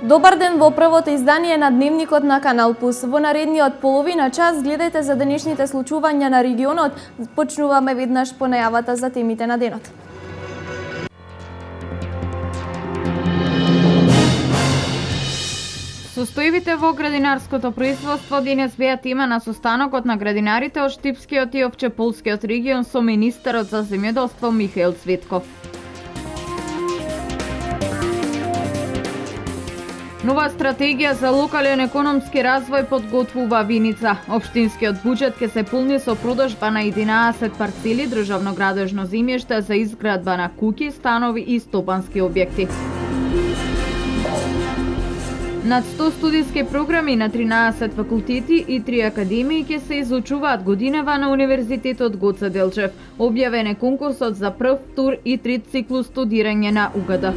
Добар ден во првото издание на Дневникот на Канал Пус. Во наредниот половина час гледајте за денешните случувања на регионот. Почнуваме веднаш по најавата за темите на денот. Состојбите во градинарското производство денес беа тема на состанокот на градинарите од Штипскиот и Овчеполскиот регион со министерот за земјоделство Михаил Цветков. Нова стратегија за локален економски развој подготвува Виница. Општинскиот буџет ќе се полни со продажба на 11 парцели државно градежно земјиште за изградба на куќи, станови и стопански објекти. Над 100 студиски програми на 13 факултети и 3 академии ќе се изучуваат годинава на Универзитетот Гоце Делчев. Објавен е конкурсот за прв тур и трет циклус студирање на УГД.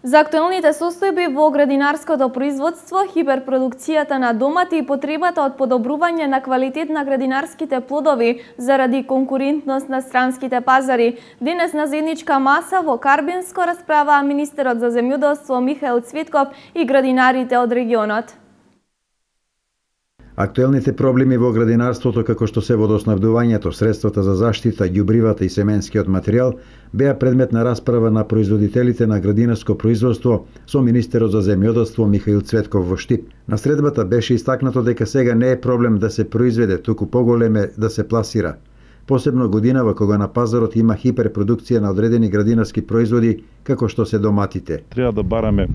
За актуелните состојби во градинарското производство, хиперпродукцијата на домати и потребата од подобрување на квалитет на градинарските плодови заради конкурентност на странските пазари. Денес на заедничка маса во Карбинско расправаа министерот за земјоделство Михаил Цветков и градинарите од регионот. Актуелните проблеми во градинарството, како што се водоснабдувањето, средствата за заштита, ѓубривата и семенскиот материјал, беа предмет на расправа на производителите на градинарско производство со министерот за земјоделство Михаил Цветков во Штип. На средбата беше истакнато дека сега не е проблем да се произведе, туку поголем е да се пласира. Посебно годинава кога на пазарот има хиперпродукција на одредени градинарски производи, како што се доматите. Треба да бараме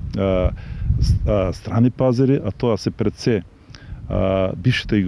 страни пазари, а тоа се пред се бившите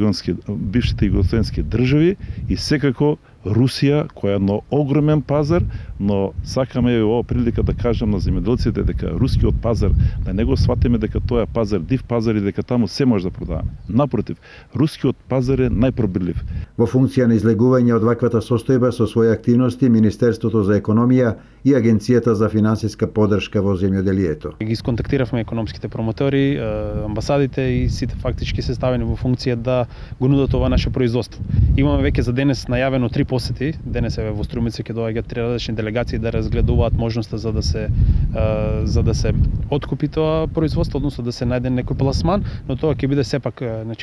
југословенски држави и секако Русија, која е едно огромен пазар, но сакаме и ова прилика да кажам на земјоделците дека рускиот пазар, да не го сватиме дека тоа е пазар, див пазар и дека таму се може да продаваме. Напротив, рускиот пазар е најпробирлив. Во функција на излегување од ваквата состојба со своји активности, Министерството за економија и Агенцијата за финансиска поддршка во земјоделието. Ги сконтактиравме економските промотори, амбасадите и сите фактички се ставени во функција да го нудат ова наше производство. Имаме веќе за денес најавено 3 посети. Денес е во Струмица ќе доаѓаат 3 различни делегации да разгледуваат можноста за да се откупи тоа производство, односно да се најде некој пласман, но тоа ќе биде сепак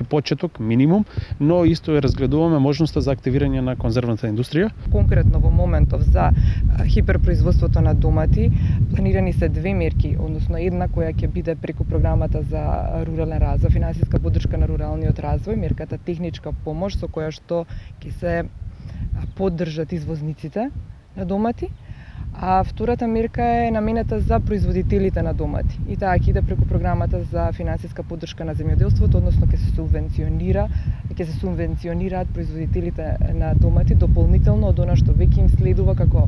почеток, минимум, но исто е разгледуваме можноста за активирање на конзервната индустрија. Конкретно во моментов за хиперпроизводството на домати планирани се 2 мерки, односно една која ќе биде преку програмата за рурален развој, финансиска поддршка на руралниот развој, мерката техничка помош со која што ќе се поддржат извозниците на домати, а втората мерка е наменета за производителите на домати. И таа ќе иде преку програмата за финансиска поддршка на земјоделството, односно ќе се субвенционираат производителите на домати дополнително од она што веќе им следува како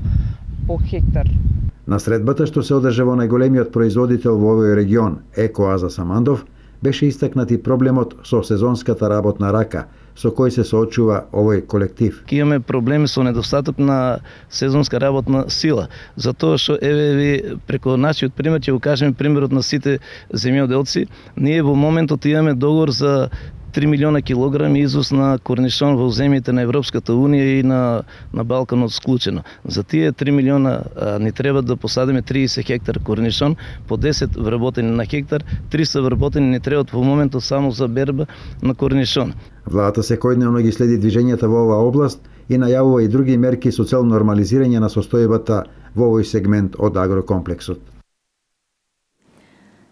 по хектар. На средбата што се одржа во најголемиот производител во овој регион, Екоаза Самандов, беше истакнат и проблемот со сезонската работна рака, со кој се соочува овој колектив. Имаме проблеми со недостаток на сезонска работна сила, затоа што ви преку нашиот пример ќе го кажеме примерот на сите земјоделци. Ние во моментот имаме договор за 3 милиона килограми износ на корнишон во земјите на Европската Унија и на Балканот склучено. За тие 3 милиона ни треба да посадиме 30 хектар корнишон, по 10 вработени на хектар, 300 вработени ни требаат во моментот само за берба на корнишон. Владата секојдневно ги следи движењата во оваа област и најавува и други мерки со цел нормализирање на состојбата во овој сегмент од агрокомплексот.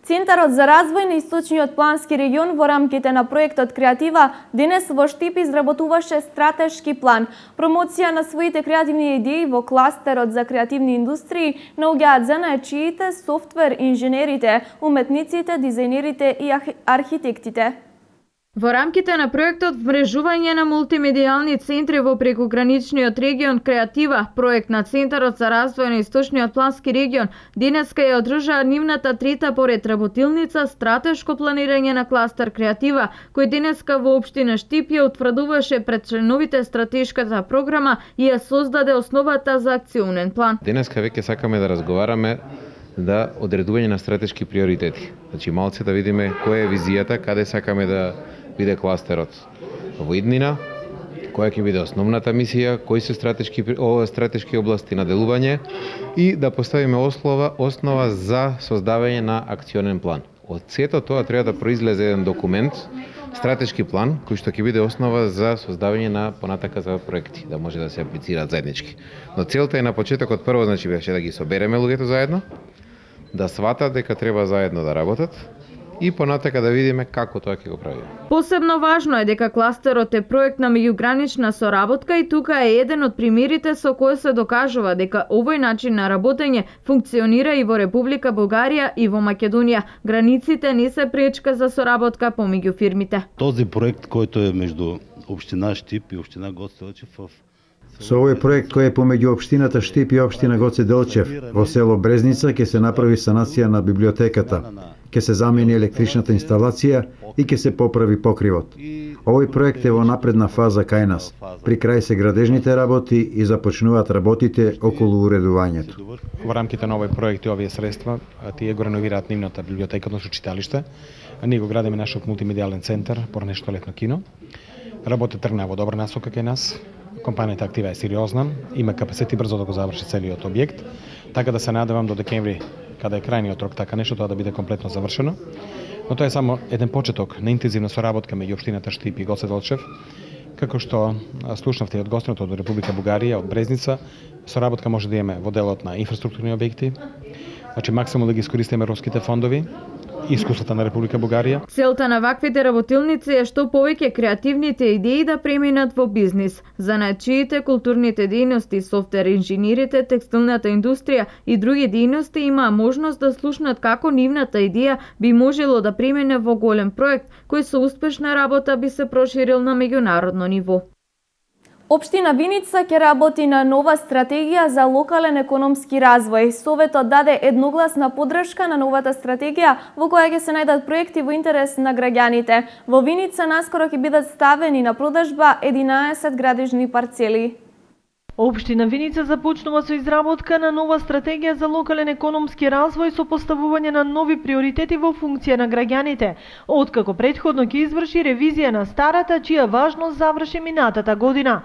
Центарот за развој на Источниот плански регион во рамките на проектот Креатива денес во Штип изработуваше стратешки план. Промоција на своите креативни идеи во кластерот за креативни индустрии наоѓаат занаечиите, софтвер инженерите, уметниците, дизајнерите и архитектите. Во рамките на проектот Вмрежување на мултимедијални центри во прекограничниот регион Креатива, проект на Центарот за развој на Источниот плански регион, денеска ја одржаа нивната трета поред работилница стратешко планирање на кластер Креатива, кој денеска во општина Штип ја утврдуваше пред членовите стратешката програма и ја создаде основата за акционен план. Денеска веќе сакаме да разговараме да одредување на стратешки приоритети. Значи малце да видиме која е визијата, каде сакаме да биде кластерот во иднина, која ќе биде основната мисија, кои се стратешки области на делување и да поставиме основа за создавање на акционен план. Од сето тоа треба да произлезе еден документ, стратешки план, кој што ќе биде основа за создавање на понатака за проекти, да може да се аплицираат заеднички. Но целта е на почетокот прво беше да ги собереме луѓето заедно, да сватат дека треба заедно да работат и понатака да видиме како тоа ќе го правиме. Посебно важно е дека кластерот е проект на меѓугранична соработка и тука е еден од примерите со кој се докажува дека овој начин на работење функционира и во Република Бугарија и во Македонија. Границите не се пречка за соработка помеѓу фирмите. Този проект којто е меѓу општина Штип и општина Гоце Делчев Со овој проект кој е помеѓу општината Штип и општина Гоце Делчев во село Брезница ќе се направи санација на библиотеката, ќе се замени електричната инсталација и ќе се поправи покривот. Овој проект е во напредна фаза кај нас. При крај се градежните работи и започнуваат работите околу уредувањето. Во рамките на овој проект и овие средства, тие го реновираат нивната библиотека, односно читалиште. Ние го градиме нашиот мултимедијален центар, поранешто летно кино. Работа тргна во добра насока кај нас. Компанијата актива е сериозна, има капацитет и брзо да го заврши целиот објект, така да се надевам до декември, каде е крајниот рок, така нешто тоа да биде комплетно завршено. Но тоа е само еден почеток на интензивна соработка меѓу општината Штип и Гоце Делчев, како што слушнавте од гостиното од Република Бугарија, од Брезница, соработка може да имаме во делот на инфраструктурни објекти, значи максимално да ги искористиме европските фондови, искуството на Република Бугарија. Целта на ваквите работилници е што повеќе креативните идеи да преминат во бизнис. Занаачиите, културните дејности, софтвер инженерите, текстилната индустрија и други дејности имаа можност да слушнат како нивната идеја би можело да премине во голем проект, кој со успешна работа би се проширил на меѓународно ниво. Општина Виница ќе работи на нова стратегија за локален економски развој. Советот даде едногласна поддршка на новата стратегија во која ќе се најдат проекти во интерес на граѓаните. Во Виница наскоро ќе бидат ставени на продажба 11 градежни парцели. Општина Виница започнува со изработка на нова стратегија за локален економски развој со поставување на нови приоритети во функција на граѓаните, откако претходно ќе изврши ревизија на старата, чија важност заврши минатата година.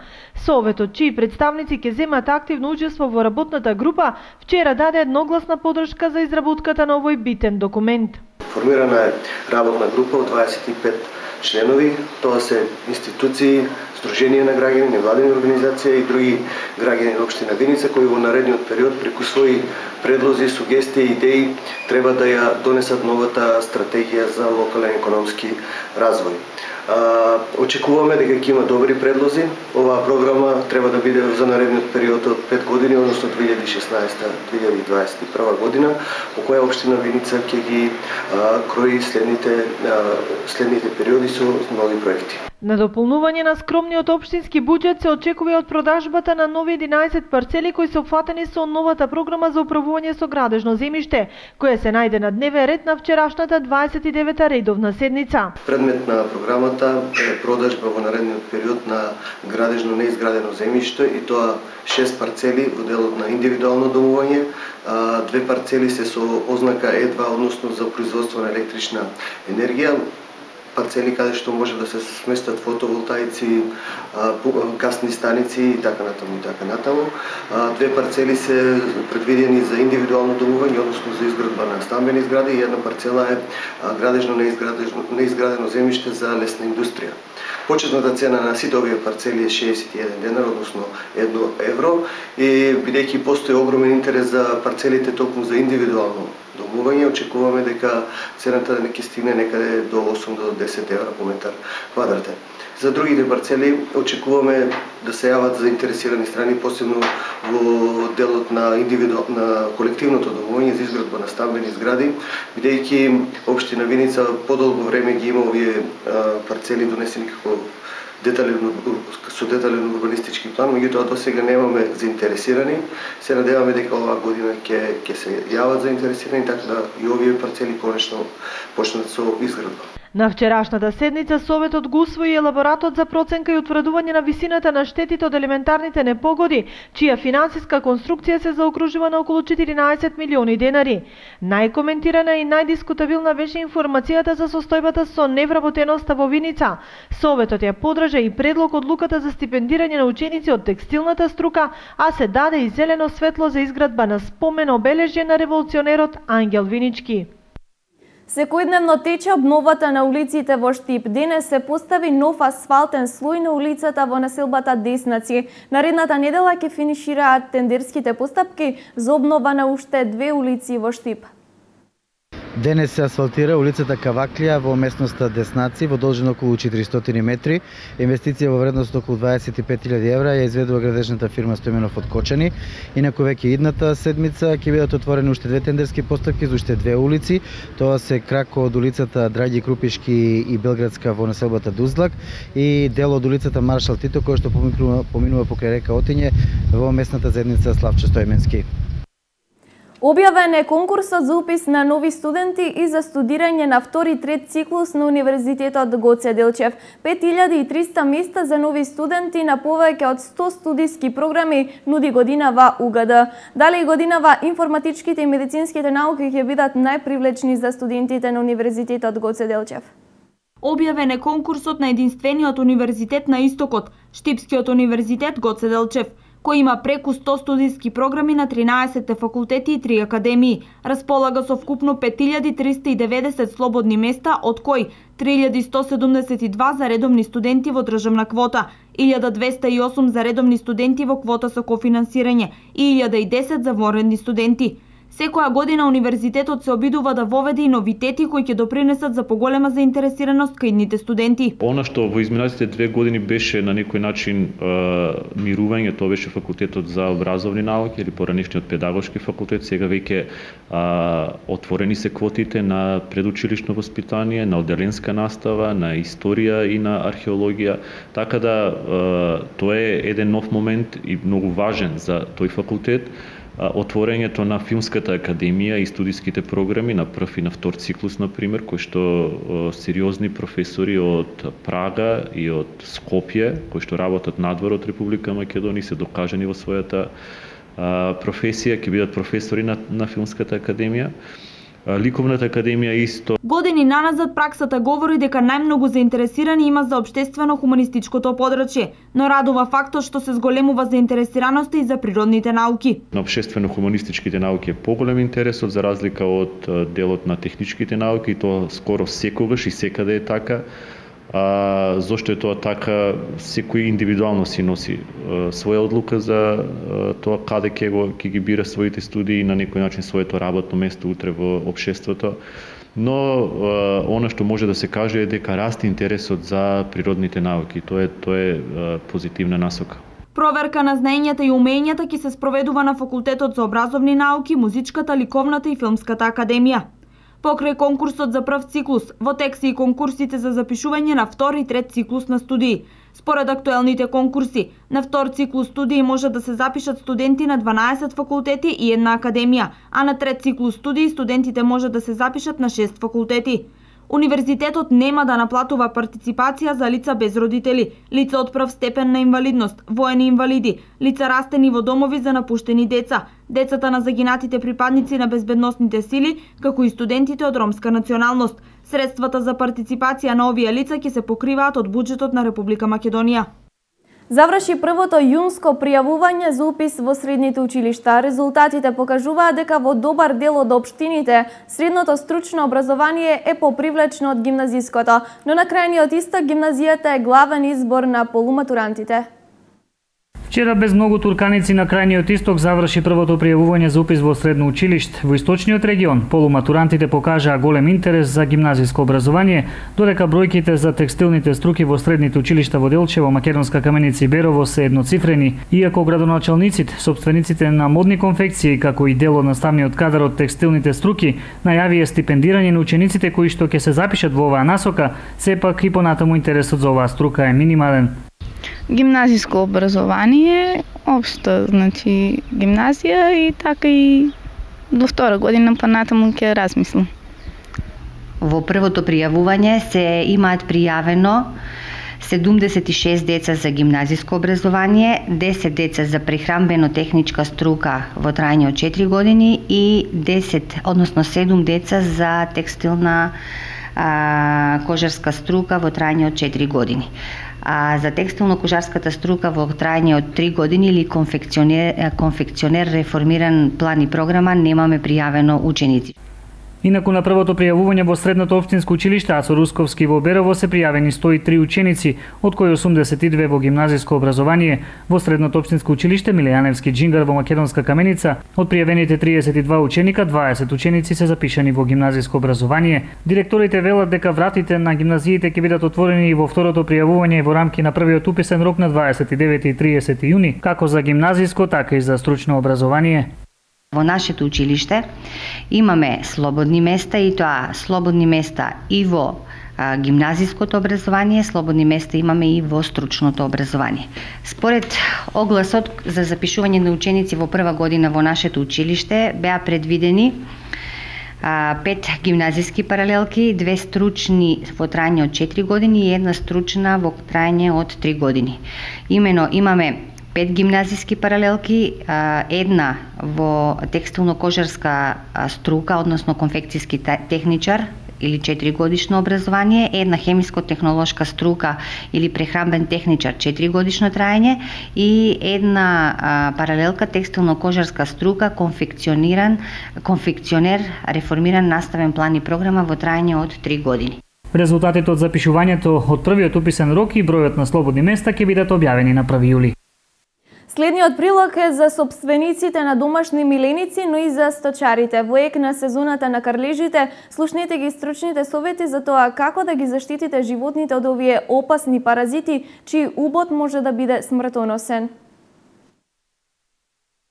Советот, чии представници ќе земат активно учество во работната група, вчера даде едногласна поддршка за изработката на овој битен документ. Формирана е работна група од 25 членови, тоа се институции, Сдружение на граѓани, невладени организации и други граѓани на општина Виница кои во наредниот период преку своји предлози, сугестии и идеи треба да ја донесат новата стратегија за локален економски развој. Очекуваме дека ќе има добри предлози. Оваа програма треба да биде за наредниот период од 5 години, односно 2016-2021 година, во која општина Виница ќе ги крои следните периоди со нови проекти. На дополнување на скромниот општински буџет се очекува од продажбата на нови 11 парцели кои се опфатени со новата програма за управување со градежно земјиште, која се најде на дневен ред на вчерашната 29-та редовна седница. Предмет на програмата е продажба во наредниот период на градежно неизградено земјиште и тоа 6 парцели во делот на индивидуално домување, 2 парцели се со ознака Е2, односно за производство на електрична енергија, парцели каде што може да се сместат фотоволтаици, гасни станици и така натаму и така натаму. 2 парцели се предвидени за индивидуално домување, односно за изградба на стамбени згради и една парцела е градежно неизградено земјиште за лесна индустрија. Почетната цена на сите овие парцели е 61 денар, односно 1 евро, и бидејќи постои огромен интерес за парцелите токму за индивидуално домување, очекуваме дека цената ќе стигне некаде до 8 до 10 евра по метар квадратен. За другите парцели очекуваме да се јават заинтересирани страни, посебно во делот на колективното домување за изградба на стамбени згради, бидејќи општина Виница подолго време ги има овие парцели донесени како детален урбанистички план, меѓутоа до сега немаме заинтересирани. Се надеваме дека оваа година ќе се јават заинтересирани, така да и овие парцели конечно почнат со изградба. На вчерашната седница Советот го усвои елаборатот за проценка и утврдување на висината на штетите од елементарните непогоди, чија финансиска конструкција се заокружува на околу 14 милиони денари. Најкоментирана и најдискутабилна беше информацијата за состојбата со невработеноста во Виница. Советот ја поддржи поддржа и предлог одлуката за стипендирање на ученици од текстилната струка, а се даде и зелено светло за изградба на спомен обележје на револуционерот Ангел Винички. Секојдневно тече обновата на улиците во Штип. Денес се постави нов асфалтен слој на улицата во населбата Деснаци. Наредната недела ќе финишираат тендерските постапки за обнова на уште 2 улици во Штип. Денес се асфалтира улицата Каваклија во местноста Деснаци во должина околу 400 метри. Инвестиција во вредност околу 25.000 евра ја изведува градежната фирма Стојменов од Кочани. Инаку веќе идната седмица ќе бидат отворени уште 2 тендерски постапки за уште 2 улици. Тоа се крако од улицата Драги Крупишки и Белградска во населбата Дузлак и дел од улицата Маршал Тито кој што поминува покрај река Отиње во местната заедница Славчо Стојменски. Објавен е конкурсот за упис на нови студенти и за студирање на втори и трет циклус на Универзитетот Гоце Делчев. 5300 места за нови студенти на повеќе од 100 студиски програми нуди годинава УГД. Дали годинава информатичките и медицинските науки ќе бидат најпривлечни за студентите на Универзитетот Гоце Делчев. Објавен е конкурсот на единствениот универзитет на Истокот, Штипскиот универзитет Гоце Делчев, кој има преку 100 студиски програми на 13 факултети и 3 академии. Располага со вкупно 5390 слободни места, од кои 3172 за редовни студенти во државна квота, 1208 за редовни студенти во квота со кофинансирање и 1010 за вонредни студенти. Секоја година универзитетот се обидува да воведе и новитети кои ќе допринесат за поголема заинтересираност кај идните студенти. Она што во изминатите 2 години беше на некој начин мирување, тоа беше факултетот за образовни науки или поранешниот педагошки факултет. Сега веќе отворени се квотите на предучилишно воспитание, на одделенска настава, на историја и на археологија. Така да тоа е еден нов момент и многу важен за тој факултет. Отворењето на Филмската академија и студиските програми на прв и на втор циклус, например, кои што сериозни професори од Прага и од Скопје, кои што работат надвор од Република Македонија, се докажани во својата професија, ќе бидат професори на Филмската академија. Ликовната академија исто. Години наназад праксата говори дека најмногу заинтересирани има за општествено-хуманистичкото подрачје, но радува фактот што се зголемува заинтересираноста и за природните науки. На општествено-хуманистичките науки е поголем интересот за разлика од делот на техничките науки, и тоа скоро секогаш и секаде е така. Зошто е тоа така? Секој индивидуално си носи своја одлука за тоа каде ќе ги бира своите студии и на некој начин своето работно место утре во општеството. Но она што може да се каже е дека расте интересот за природните науки. Тоа е позитивна насока. Проверка на знаењата и умењата ќе се спроведува на Факултетот за образовни науки, Музичката, Ликовната и Филмската академија. Покрај конкурсот за прв циклус, во тек се и конкурсите за запишување на втор и трет циклус на студии. Според актуелните конкурси, на втор циклус студии може да се запишат студенти на 12 факултети и една академија, а на трет циклус студии студентите може да се запишат на 6 факултети. Универзитетот нема да наплатува партиципација за лица без родители, лица од прв степен на инвалидност, воени инвалиди, лица растени во домови за напуштени деца, децата на загинатите припадници на безбедносните сили, како и студентите од ромска националност. Средствата за партиципација на овие лица ќе се покриваат од буџетот на Република Македонија. Заврши првото јунско пријавување за упис во средните училишта. Резултатите покажуваат дека во добар дел од општините средното стручно образование е попривлечно од гимназиското, но на крајниот исток гимназијата е главен избор на полуматурантите. Вчера без многу турканици на крајниот исток заврши првото пријавување за упис во средно училиште. Во источниот регион полуматурантите покажаа голем интерес за гимназиско образование, додека бројките за текстилните струки во средните училишта во Делчево, Македонска Каменица и Берово се едноцифрени, иако градоначалниците, сопствениците на модни конфекции, како и дел од наставниот кадар од текстилните струки, најавија стипендирање на учениците кои што ќе се запишат во оваа насока, сепак и понатаму интересот за оваа струка е минимален. Гимназиско образование, општо, значи гимназија и така и до втора година понатаму ќе размислам. Во првото пријавување се имаат пријавено 76 деца за гимназиско образование, 10 деца за прехранбено-техничка струка во трајање од 4 години и 7 деца за текстилна кожарска струка во трајање од 4 години. А за текстилно-кожарската струка во трајање од 3 години или конфекционер реформиран план и програма немаме пријавено ученици. Инаку на првото пријавување во средното општинско училиште Ацо Русковски во Берово се пријавени 103 ученици, од кои 82 во гимназиско образование. Во средното општинско училиште Милејаневски Џингар во Македонска Каменица, од пријавените 32 ученика, 20 ученици се запишани во гимназиско образование. Директорите велат дека вратите на гимназиите ќе бидат отворени и во второто пријавување во рамки на првиот уписен рок на 29 и 30 јуни, како за гимназиско, така и за стручно образование. Во нашето училиште имаме слободни места, и тоа слободни места и во гимназиското образование, слободни места имаме и во стручното образование. Според огласот за запишување на ученици во прва година во нашето училиште беа предвидени 5 гимназиски паралелки, 2 стручни во трајање од 4 години и 1 стручна во трајање од 3 години. Имено имаме 5 гимназиски паралелки, една во текстилно-кожарска струка, односно конфекцијски техничар или 4 годишно образование, една хемиско-технолошка струка или прехранбен техничар 4 годишно трајање и една паралелка текстилно-кожарска струка конфекционер реформиран наставен план и програма во трајање од 3 години. Резултатите од запишувањето од првиот уписен рок и бројот на слободни места ќе бидат објавени на 1 јули. Следниот прилог е за сопствениците на домашни миленици, но и за сточарите. Во ек на сезоната на карлежите, слушнете ги стручните совети за тоа како да ги заштитите животните од овие опасни паразити, чиј убод може да биде смртоносен.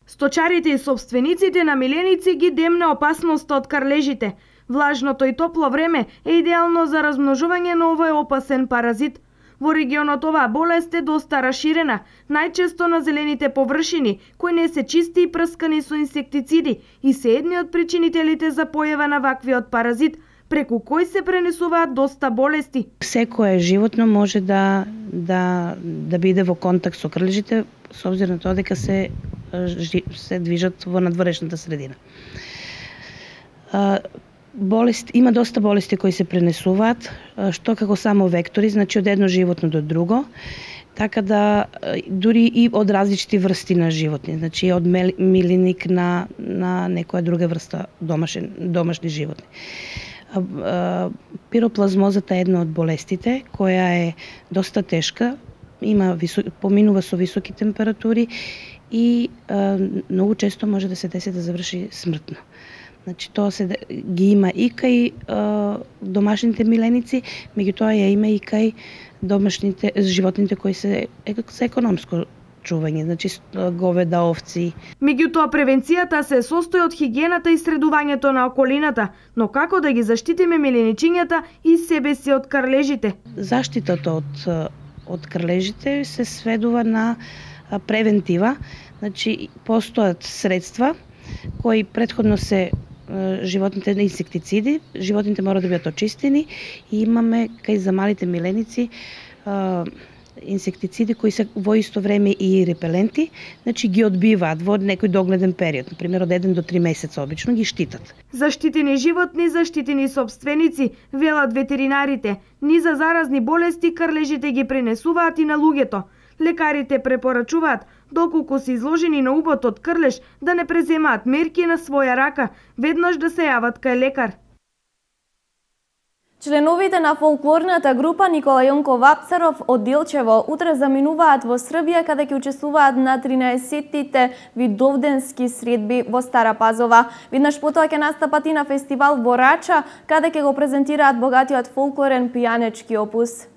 Сточарите и сопствениците на миленици ги демне опасноста од карлежите. Влажното и топло време е идеално за размножување на овој опасен паразит. Во регионот оваа болест е доста раширена, најчесто на зелените површини, кои не се чисти и прскани со инсектициди и се едни од причинителите за појава на ваквиот паразит, преку кој се пренесуваат доста болести. Секое животно може да биде во контакт со крлежите, со обзир на тоа дека се движат во надворешната средина. Има доста болести кои се пренесуваат, што како само вектори, значи од едно животно до друго, така да дури и од различити врсти на животни, значи од милиник на некоја друга врста домашни животни. Пироплазмозата е една од болестите, која е доста тешка, поминува со високи температури и многу често може да се деси да заврши смртно. Значи тоа ги има и кај домашните миленици, меѓутоа ја има и кај домашните животните кои се економско чување, значи говеда, овци. Меѓутоа превенцијата се состои од хигиената и средувањето на околината, но како да ги заштитиме миленичињата и себе си од карлежите? Заштитата од крлежите се сведува на превентива, значи постојат средства кои претходно се животните на инсектициди, животните мора да бидат очистени и имаме кај за малите миленици инсектициди кои се во исто време и репеленти, значи ги одбиваат во некој догледен период, например од 1 до 3 месеца обично ги штитат. Заштитени животни, заштитени сопственици, велат ветеринарите. Ни за заразни болести крлежите ги пренесуваат и на луѓето. Лекарите препорачуваат, доколку се изложени на убод од крлеж, да не преземаат мерки на своја рака, веднаш да се јават кај лекар. Членовите на фолклорната група Никола Јонков Вапцаров од Делчево утре заминуваат во Србија, каде ќе учествуваат на 13-тите видовденски средби во Стара Пазова. Веднаш потоа ќе настапат и на фестивал во Рача, каде ќе го презентираат богатиот фолклорен пијанечки опус.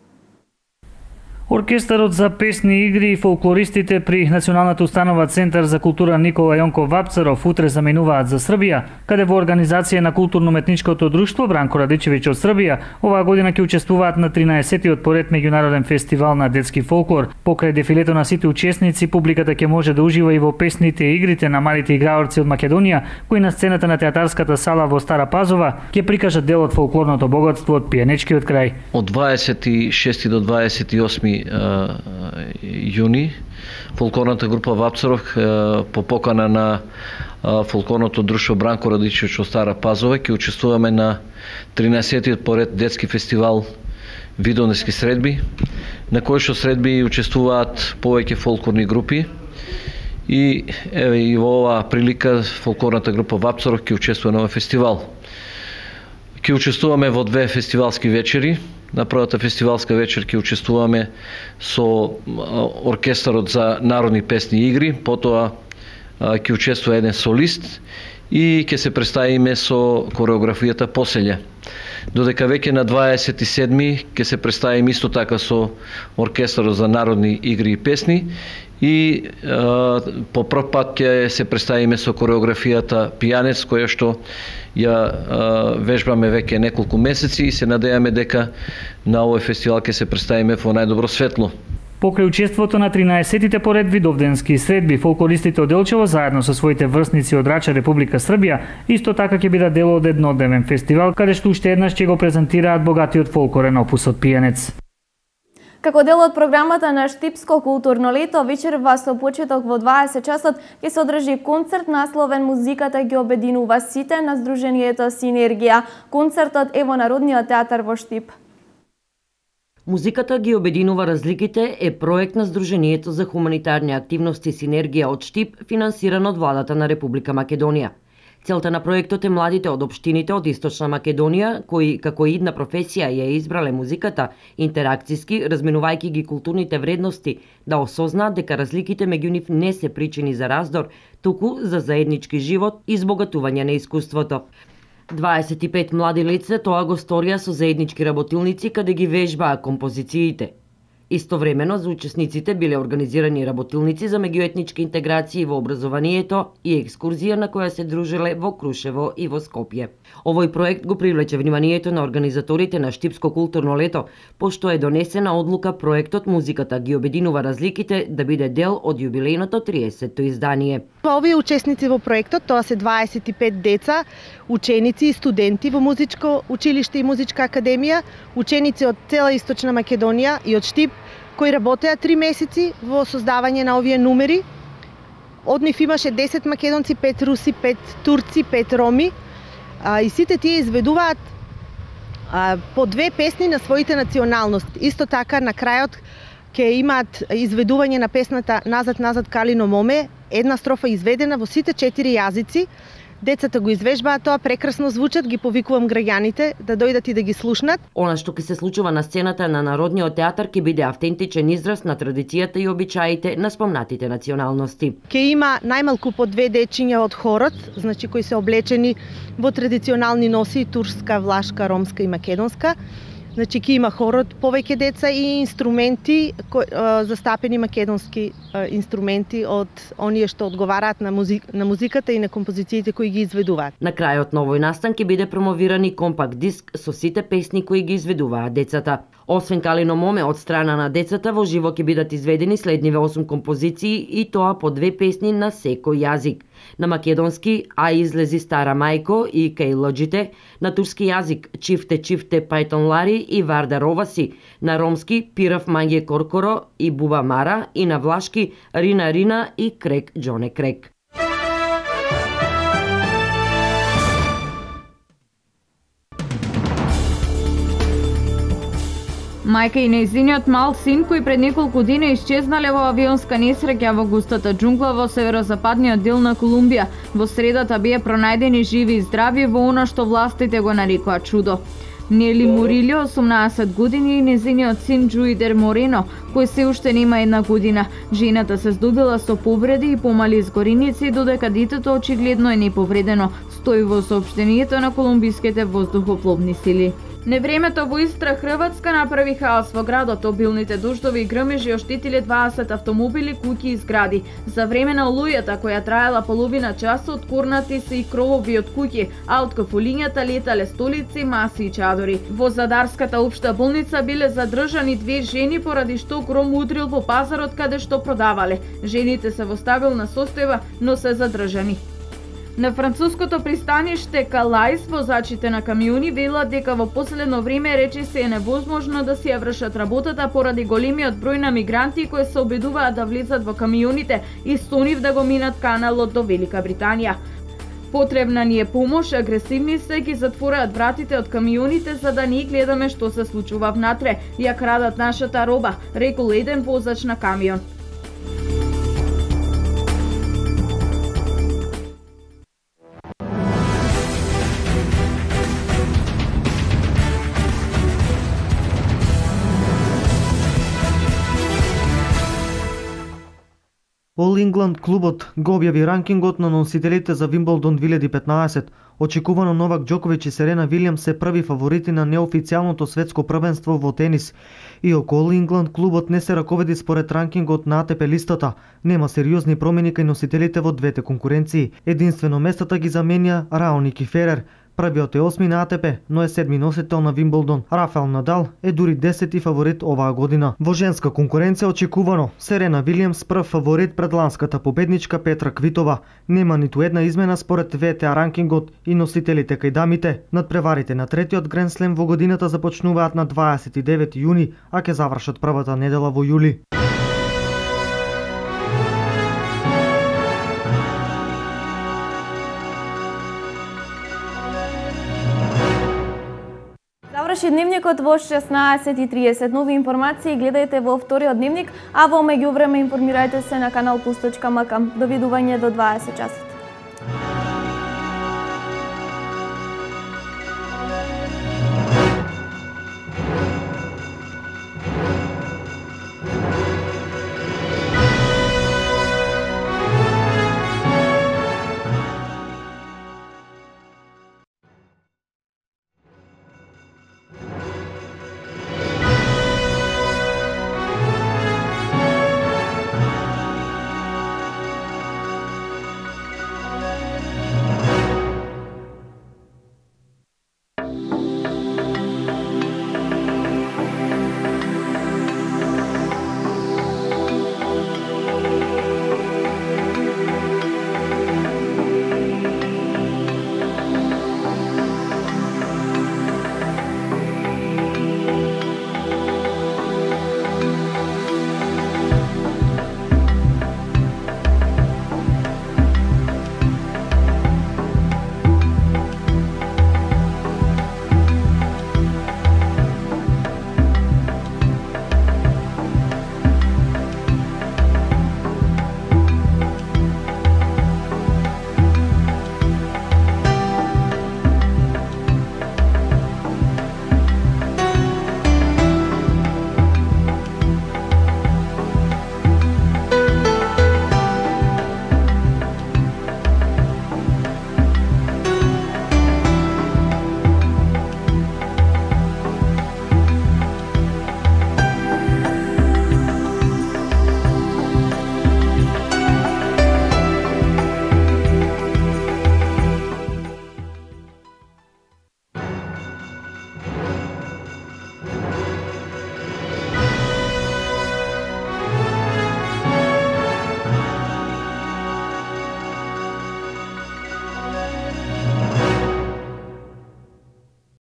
Оркестарот за песни и игри и фолклористите при Националната установа Центар за култура Никола Јонков Вапцаров утре заминуваат за Србија, каде во организација на културно-уметничкото друштво Бранко Радичевиќ од Србија оваа година ќе учествуваат на 13-тиот поред меѓународен фестивал на детски фолклор. Покрај дефилето на сите учесници, публиката ќе може да ужива и во песните и игрите на малите играорци од Македонија, кои на сцената на театарската сала во Стара Пазова ќе прикажат дел од фолклорното богатство од пијанечкиот крај. Од 26 до 28 јуни фолклорната група Вапцаров по покана на фолклорното друштво Бранко Радичевич од Стара Пазова. Ќе учествуваме на 13-тиот поред детски фестивал Видонески средби, на кој што средби учествуваат повеќе фолклорни групи. И еве и во оваа прилика фолклорната група Вапцаров ќе учествува на овој фестивал. Ќе учествуваме во две фестивалски вечери. На првата фестивалска вечер ќе учествуваме со оркестарот за народни песни и игри, потоа ќе учествува еден солист и ќе се представиме со кореографијата Поселја. Додека веќе на 27 ќе се представиме исто така со оркестарот за народни игри и песни и по прв пат ќе се представиме со кореографијата Пијанец, која што ја вежбаме веќе неколку месеци и се надејаме дека на овој фестивал ќе се представиме во најдобро светло. Покрај учеството на 13-тите поред видовденски средби, фолклористите од Делчево заедно со своите врсници од Рача, Република Србија, исто така ќе бидат дел од еднодневен фестивал, каде што уште еднаш ќе го презентираат богатиот фолклорен опус од Пијанец. Како дел од програмата на Штипско културно лето, вечерва со почеток во 20 часот ќе се одржи концерт насловен Музиката ги обединува сите на Сдруженијето Синергија. Концертот е во Народниот театар во Штип. Музиката ги обединува разликите е проект на Сдруженијето за хуманитарни активности Синергија од Штип, финансиран од владата на Република Македонија. Целта на проектот е младите од општините од Источна Македонија, кои како идна професија ја избрале музиката, интеракциски, разменувајќи ги културните вредности, да осознаат дека разликите меѓу нив не се причини за раздор, туку за заеднички живот и избогатување на искуството. 25 млади лица тоа го сторија со заеднички работилници каде ги вежбаа композициите. Истовремено за учесниците биле организирани работилници за меѓуетнички интеграции во образованието и екскурзија на која се дружеле во Крушево и во Скопје. Овој проект го привлече вниманието на организаторите на Штипско културно лето, пошто е донесена одлука проектот Музиката ги обединува разликите да биде дел од јубилејното 30-то издание. Овие учесници во проектот, тоа се 25 деца, ученици и студенти во Музичко училиште и Музичка академија, ученици од цела Источна Македонија и од Штип, кои работеа 3 месеци во создавање на овие numeri. Од нив имаше 10 македонци, 5 руси, 5 турци, 5 роми. И сите тие изведуваат по 2 песни на своите националности. Исто така на крајот ќе имаат изведување на песната Назад, назад Калино моме, една строфа изведена во сите 4 јазици. Децата го извежбаат тоа, прекрасно звучат, ги повикувам граѓаните да дојдат и да ги слушнат. Она што ќе се случува на сцената на Народниот театар ќе биде автентичен израз на традицијата и обичаите на спомнатите националности. Ќе има најмалку по 2 дечиња од хорот, значи кои се облечени во традиционални носи турска, влашка, ромска и македонска. Значи ќе има хорот повеќе деца и инструменти, застапени македонски инструменти од оние што одговараат на музиката и на композициите кои ги изведуваат. На крајот на овој настан ќе биде промовиран и компакт диск со сите песни кои ги изведуваат децата. Освен Калино моме од страна на децата, во живо ќе бидат изведени следниве 8 композиции и тоа по 2 песни на секој јазик. На македонски А излези стара мајко и Кај лоџите, на турски јазик Чифте чифте пајтон лари и Варда роваси, на ромски Пирав мање коркоро и Буба мара и на влашки Рина Рина и Крек Џоне Крек. Мајка и нејзиниот мал син, кои пред неколку дена исчезнале во авионска несреќа во густата џунгла во северозападниот дел на Колумбија, во средата беа пронајдени живи и здрави во она што властите го нарекоа чудо. Нели Морилио, 18 години, и нејзиниот син Джуидер Морено, кој се уште нема 1 година. Жената се здобила со повреди и помали изгореници, додека детето очигледно е неповредено, стои во соопштението на колумбиските воздухопловни сили. Невремето во Истра, Хрватска направи хаос во градот. Обилните дождови и грмежи оштетиле 20 автомобили, куќи и згради. За време на олујата, која траела половина час, откорнати се и кровови од куќи, а од кафулињата летале столици, маси и чадори. Во Задарската општа болница биле задржани 2 жени поради што гром удрил во пазарот каде што продавале. Жените се во стабилна состојба, но се задржани. На француското пристаниште Калајс возачите на камиони велат дека во последно време речиси е невозможно да си ја вршат работата поради големиот број на мигранти кои се обидуваат да влезат во камионите и со нив да го минат каналот до Велика Британија. Потребна ни е помош, агресивни се ги затвораат вратите од камионите за да ни гледаме што се случува внатре. Ја крадат нашата роба, рекол еден возач на камион. All England клубот го објави ранкингот на носителите за Вимблдон 2015. Очекувано Новак Џоковиќ и Серена Вилијамс се први фаворити на неофицијалното светско првенство во тенис. Иако All England клубот не се раковеди според ранкингот на ATP листата, нема сериозни промени кај носителите во двете конкуренции. Единствено местата ги заменја Раоник и Ферер. Првиот е 8 на ATP, но е 7 носител на Вимблдон. Рафаел Надал е дури 10 фаворит оваа година. Во женска конкуренција очекувано Серена Вилијамс прв фаворит пред ланската победничка Петра Квитова. Нема ниту една измена според VTA ранкингот и носителите кај дамите. Надпреварите на третиот Гранд Слем во годината започнуваат на 29 јуни, а ќе завршат првата недела во јули. Заврши дневникот во 16:30. Нови информации гледајте во вториот дневник, а во меѓувреме информирајте се на канал Plus.mk. Довидување до 20 часот.